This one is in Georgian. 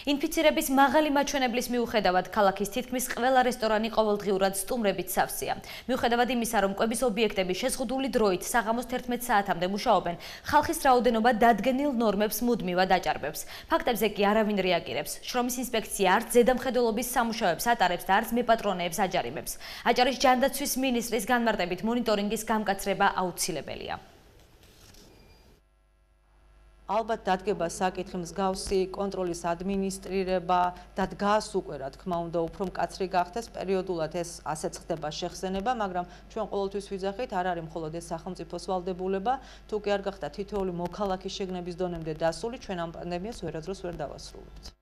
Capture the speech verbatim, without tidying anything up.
ინფიცირების მაღალი მაჩვენებლის მიუხედავად, ქალაქის თითქმის ყველა რესტორანი ყოველდღიურად სტუმრებით სავსეა. მიუხედავად იმისა, რომ კვების ობიექტები შეზღუდული დროით საღამოს თერთმეტ საათამდე მუშაობენ, ხალხის რაოდენობა დადგენილ ნორმებს მუდმივად აჭარბებს. ფაქტებზე კი არავინ რეაგირებს. შრომის ინსპექცია არც ზედამხედველობის სამუშაოებს ატარებს და არც მეპატრონეებს აჯარიმებს. აჭარის ჯანდაცვის მინისტრის განმარტებით მონიტორინგის გამკაცრება აუცილებელია. ალბათ დადგება საკითხი მსგავსი კონტროლის ადმინისტრირება და დგას უკვე რა თქმა უნდა უფრო მკაცრი გახდეს პერიოდულად ეს ასეც ხდება შეხსენება, მაგრამ ჩვენ ყოველთვის ვიძახით, არ არის მხოლოდ ეს სახელმწიფოს ვალდებულება, თუ კი არ გახდა თითოეული მოქალაქის შეგნების დონემდე დასული, ჩვენ ამ პანდემიას ვერასდროს ვერ დავასრულებთ.